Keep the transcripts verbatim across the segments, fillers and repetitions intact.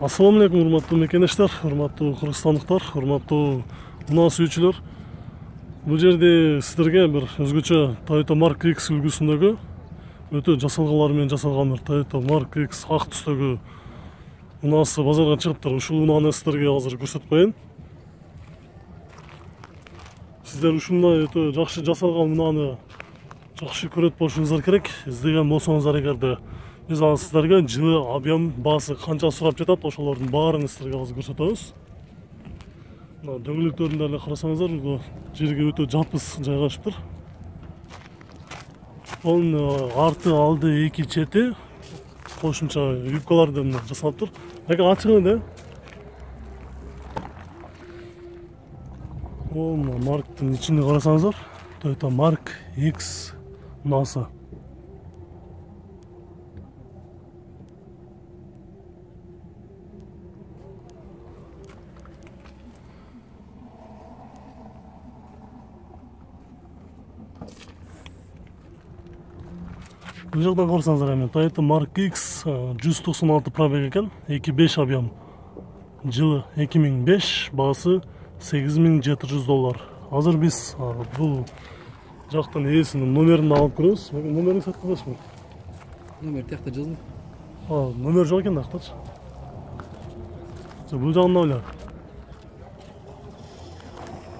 Ассаламу алейкум, урматтуу мекенештер, урматтуу кыргызстандыктар, урматтуу унаа сүйүүчүлөр. Бул жерде сиздерге бир өзгөчө Toyota Mark X үлгүсүндөгү өтө жасалгалар менен жасалган бир Toyota Mark X ак түстөгү унаасы базарга чыгыптыр. Ушул унааны сиздерге азыр көрсөтүп коеюн. Сиздер ушундай өтө жакшы жасалган унааны жакшы көрөт болушуңуздар керек. Издеген болсоңуздар эгерде биз ал сиздерге жылы объем баасы канча сурап жатат, ошолордун баарын сиздерге азыр көрсөтөбүз. Мына дөңгөлөктөрүндө эле карасаңыздар, бул жерге өтө жапыс жайгашыптыр. Онун арты, алды, эки чети кошумча юбкалардан жасалыптыр. Эки ачыгы да. Мына Mark'тын ичине карасаңыздар, Toyota Mark X унаасы. Бул жактан карасаңыздар, эми Toyota Mark X жүз токсон алты пробег экен, эки беш объем. Жылы эки миң беш, баасы сегиз миң жети жүз доллар. Азыр биз бул жактан ээсинин номерин алып көрөбүз. Номерин сатып коесузбу? Номер тиякта жазылды. А, номер жок экен дактачы. Бул жагында эле.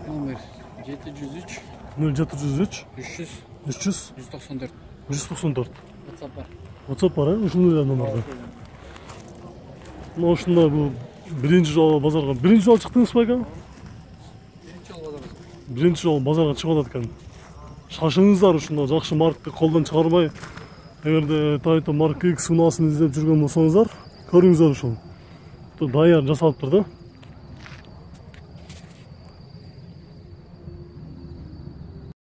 Номер жети жүз үч нөл жети жүз үч үч жүз үч жүз жүз токсон төрт. жүз токсон төрт. WhatsApp бар. WhatsApp бар, э? Ушундай эле номерде. Мына ушундай бул биринчи жолу базарга, биринчи жолу чыктыңызбы экен? Биринчи жолу базарга. Биринчи жолу базарга чыгып атат экен. Шашыңыздар, ушундай жакшы маркты колдон чыгарбай, эгерде Toyota Mark X унаасын издеп жүргөн болсоңуздар, көрүңүздөр ушул. Даяр жасалыптыр да.